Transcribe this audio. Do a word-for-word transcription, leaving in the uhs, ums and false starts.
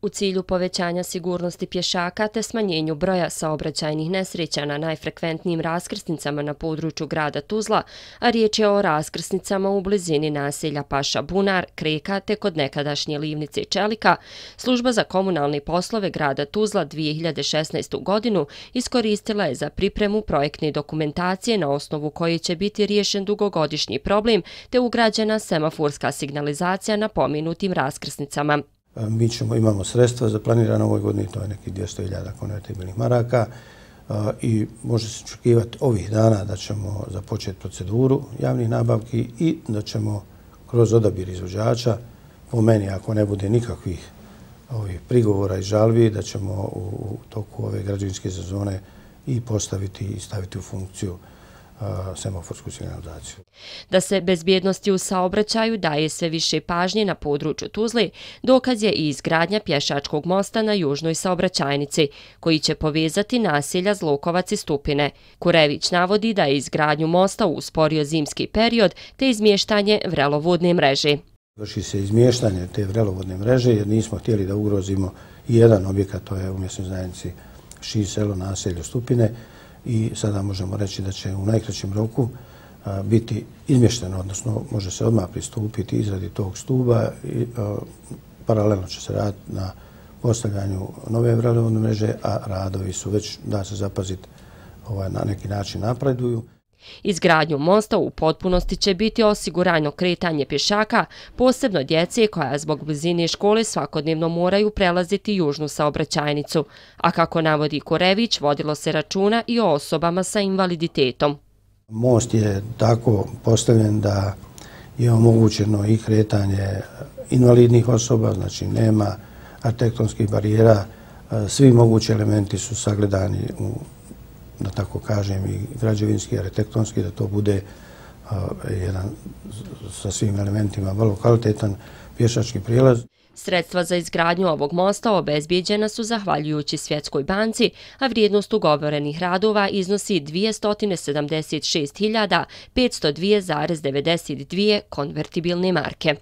U cilju povećanja sigurnosti pješaka te smanjenju broja saobraćajnih nesreća na najfrekventnijim raskrsnicama na području grada Tuzla, a riječ je o raskrsnicama u blizini naselja Paša Bunar, Kreka te kod nekadašnje livnice Čelika, Služba za komunalne poslove grada Tuzla dvije hiljade šesnaestu. godinu iskoristila je za pripremu projektne dokumentacije na osnovu koje će biti riješen dugogodišnji problem te ugrađena semaforska signalizacija na pomenutim raskrsnicama. Mi ćemo, imamo sredstva za planirano ovoj godini, to je nekih dvjesto hiljada konvertibilnih maraka i može se očekivati ovih dana da ćemo započeti proceduru javnih nabavki i da ćemo kroz odabir izvođača, po meni ako ne bude nikakvih ovih prigovora i žalbi, da ćemo u toku ove građevinske sezone i postaviti i staviti u funkciju semaforsku signalizaciju. Da se bezbjednosti u saobraćaju daje sve više pažnje na području Tuzle, dokaz je i izgradnja pješačkog mosta na južnoj saobraćajnici, koji će povezati naselja Zlokovac i Stupine. Kurević navodi da je izgradnju mosta usporio zimski period te izmještanje vrelovodne mreže. Vrši se izmještanje te vrelovodne mreže jer nismo htjeli da ugrozimo i jedan objekat, to je u mjesnoj zajednici Ši selo naselju Stupine, i sada možemo reći da će u najkraćem roku biti izmješteno, odnosno može se odmah pristupiti izradi tog stuba i paralelno će se raditi na postavljanju nove vrelovodne mreže, a radovi su već, da se zapaziti, na neki način napreduju. Izgradnju mosta u potpunosti će biti osigurano kretanje pješaka, posebno djece koja zbog blizine škole svakodnevno moraju prelaziti južnu saobraćajnicu, a kako navodi Kurević, vodilo se računa i o osobama sa invaliditetom. Most je tako postavljen da je omogućeno i kretanje invalidnih osoba, znači nema arhitektonskih barijera, svi mogući elementi su sagledani u, da tako kažem, i građevinski, arhitektonski, da to bude jedan sa svim elementima vrlo kvalitetan pješački prijelaz. Sredstva za izgradnju ovog mosta obezbijeđena su zahvaljujući Svjetskoj banci, a vrijednost ugovorenih radova iznosi dvjesto sedamdeset šest hiljada petsto dva zarez devedeset dvije konvertibilne marke.